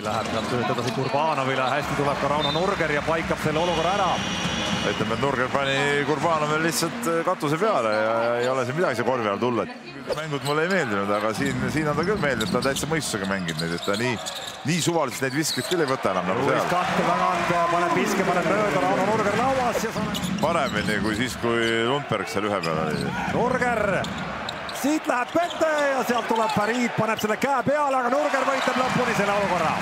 läheb sealt tööd edasi Kurbanovile, hästi tuleb ka Rauno Nurger ja paikab selle olukorra ära. Ütleme, et Nurger pani Kurbanovil lihtsalt katuse peale ja ei ole siin midagi see korvi all tulla. Mängud mulle ei meeldinud, aga siin on ta küll meeldinud, ta on täitsa mõistusega mänginud neid, et ta nii suvaliselt neid viskeid küll ei võta enam nagu seal. Kahte tagant, paneb viske, paneb mööda, Rauno Nurger lauas ja paremini kui siis, kui Lundberg seal ühe peal oli. Nurger, siit läheb pette ja sealt tuleb Farid, paneb selle käe peale, aga Nurger võitleb lõpuni selle olukorra.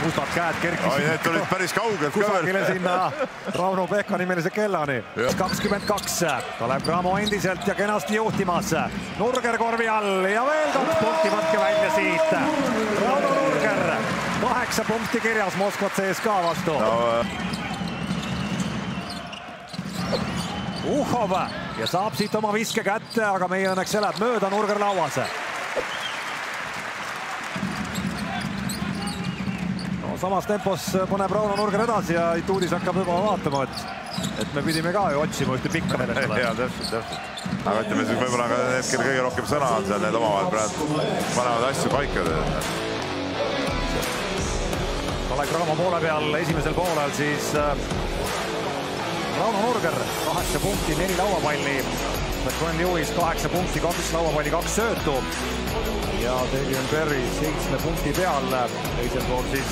Mustad käed kerkisid. Ai, need tulid päris kaugelt ka veel. Kusagile sinna Rauno Pehka nimelise kellani. 22. Kalev Cramo endiselt ja kenasti juhtimas. Nurger korvi all ja veel 2 punkti, võtke välja siit. Rauno Nurger, 8 punkti kirjas Moskvat CSKA vastu. Uhhov ja saab siit oma viske kätte, aga meie õnneks see läheb mööda, Nurger lauas. Samas tempos paneb Rauno Nurger edasi ja Ituudis hakkab juba vaatama, et me pidime ka ju otsima ühte pikka meelest. Jaa, täpselt. Aga ütleme, siis võib-olla ka need, kelle kõige rohkem sõna on seal, need omavahel praegu panevad asju paika. Kalev Cramo poole peal esimesel poolel siis Rauno Nurger 8 punkti, 4 lauapalli. Gwen Lewis 8 punkti, 2 lauapalli, 2 söötu. Ja Davion Perry 7 punkti peal. Teisel pool siis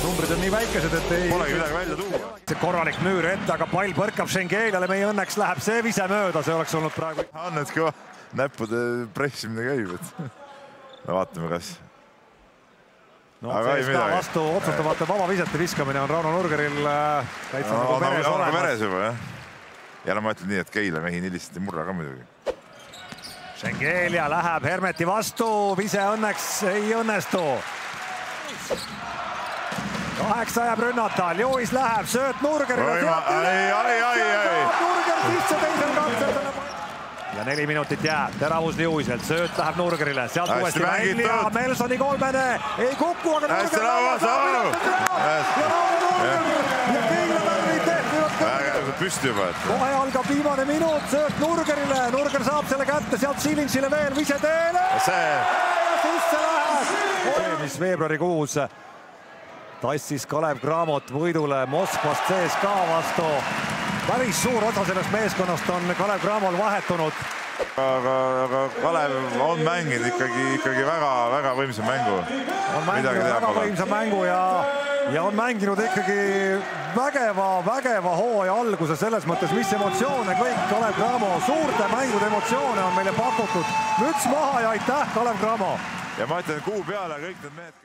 numbrid on nii väikesed, et ei... Polegi midagi välja tuua. See korralik müür ette, aga pall põrkab Šengeliale. Meie õnneks läheb see vise mööda. See oleks olnud praegu... Annet kõva näppude pressimine käib. No vaatame, kas... No, CSKA vastu otsustavate vaba visete viskamine on Rauno Nurgeril täitsa nagu veres olemas. Veres juba, jah. Ja ma ütlen nii, et Keila mehi nii lihtsalt ei murra ka muidugi. Šengelia läheb Hermeti vastu, vise õnneks ei õnnestu. 8 jääb rünnata, Lewis läheb, sööt Nurgerile. Nurger sisse teisel katsel. Ja 4 minutit jääb, teravus Lewiselt, sööt läheb Nurgerile, sealt uuesti välja, Melsoni kolmene, ei kuku, aga Nurger ja Keila värvid tehtivad püsti juba. Kohe algab viimane minut, sööt Nurgerile, Nurger saab selle kätte, sealt Silinšile veel, vise teele ja sisse läheb. Mis veebruarikuus tassis Kalev Cramot võidule Moskvast CSKA vastu. Päris suur osa sellest meeskonnast on Kalev Cramol vahetunud. Aga Kalev on mänginud ikkagi väga võimsa mängu. On mänginud väga võimsa mängu ja on mänginud ikkagi vägeva hooaja alguse selles mõttes, mis emotsioone kõik Kalev Cramo, suurte mängude emotsioone on meile pakutud. Müts maha ja aitäh, Kalev Cramo! Ja ma ütlen kuu peale kõik need mehed...